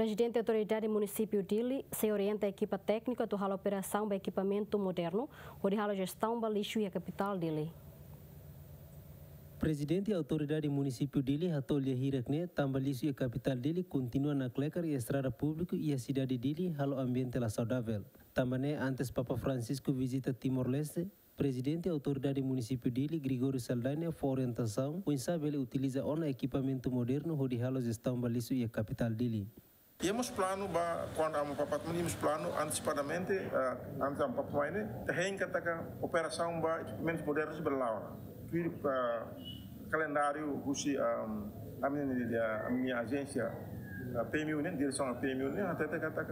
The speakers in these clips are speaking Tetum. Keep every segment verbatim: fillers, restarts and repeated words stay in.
Prezidente Autoridade Munisípiu Dili sei orienta ekipa tékniku atu halo operasaun ba ekipamentu modernu hodi halo jestaun ba lixu iha kapitál Dili. Prezidente Autoridade Munisípiu Dili hato'o lia hirak ne'e tanba lixu iha kapitál Dili kontinua nakleker iha estrada públiku iha sidade Dili, halo ambiente la saudavel. Tanba ne'e, antes Papa Francisco vizita Timor-Leste, Prezidente Autoridade Munisípiu Dili, Gregório Saldanha, fó orientasaun oinsá bele utiliza ona ekipamentu modernu hodi halo jestaun ba lixu iha kapitál Dili. Iha mós planu ba, kuandu ami papatman, iha mós planu antesipadamente, eh, antes ami papatman ne'e, ita hein katak operasaun ba ekipamentus modernus bele la'o ona. Tuir, eh, kalendáriu husi, ehm, ami-nia, ami-nia ajénsia, eh, P M U ne'e, diresaun P M U ne'e, hatete katak,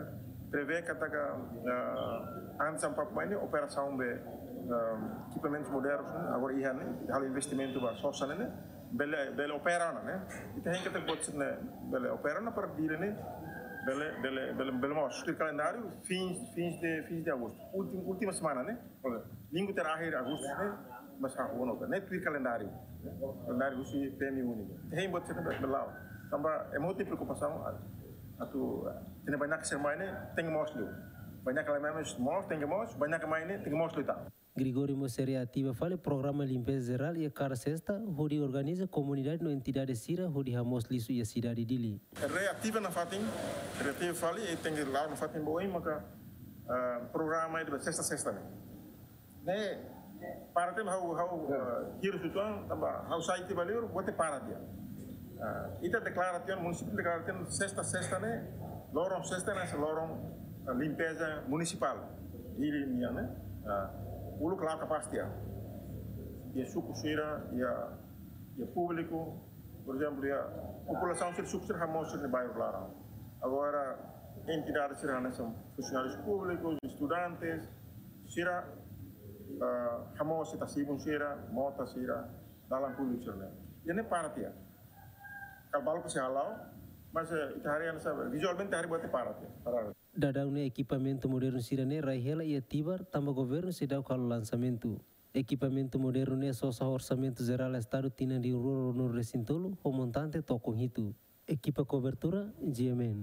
prevee katak, eh, antes ami papatman ne'e, operasaun ba, ehm, ekipamentus modernus ne'e, agora iha ne'e, halo investimentu ba sosa ne'e, bele, bele opera ona, ne'e. Ita hein katak buat sira-ne'e bele opera ona para Dili ne'e bele, bele, bele, bele moos. Tuir kalendáriu, fins, fins de, fins de agosto. Última, última semana, ne'e. Minggu terakhir agosto ne'e, mas ha, ono, ne'e tuir kalendáriu. Kalendáriu husi P M U ne'e. Ita hein buat sira-ne'e bele, bele la'o. Tanba ema hotu iha preokupasaun, atu, ita-nia bainaka sira mai ne'e, tenke moos liu. Bainaka la mai moos, tenke moos, bainaka mai ne'e, tenke moos liután. Gregório mós sei reativa fali programa limpeza jerál iha kada sesta, hodi organiza komunidade no entidade sira hodi hamoos lixu iha sidade Dili. Reativa nafatin, reativa fali, i tenke la'o nafatin ba oin maka, ah, programa ida ba sesta, sesta ne'e. Ne'e, para tiha ha'u, ha'u, ah, hirus uitoan, tanba ha'u sai tiha ba liur, buat ne'e para tiha. Ah, ita deklara tiha, munisípiu deklara tiha, sesta, sesta ne'e, loron sesta ne'e, loron, ah, limpeza munisipál. Dili nian ne'e, ah, uluk la kapás tiha. Iha suku sira, iha, iha públiku, por ezemplu, iha populasaun sira suku sira hamoos sira-nia bairru laran. Agora, entidade sira hanesan funsionárius públikus, estudantes, sira, ah, hamoos sira-nia tasi-ibun sira, mota sira, dalan públiku sira-ne'e. Ida-ne'e para tiha. Kala balu ke sei hala'o, mas, eh, ita haree hanesan, vizualmente haree buat ne'e para tiha. Para. Daudaun ne'e ekipamentu modernu sira-ne'e rai hela iha Tibar, tanba governu seidauk halo lansamentu. Ekipamentu modernu ne'e sosa ho orsamentu jerál Estadu tinan rihun rua ruanulu-resin-tolu, ho montante tokon hitu. Ekipa kobertura, G M N.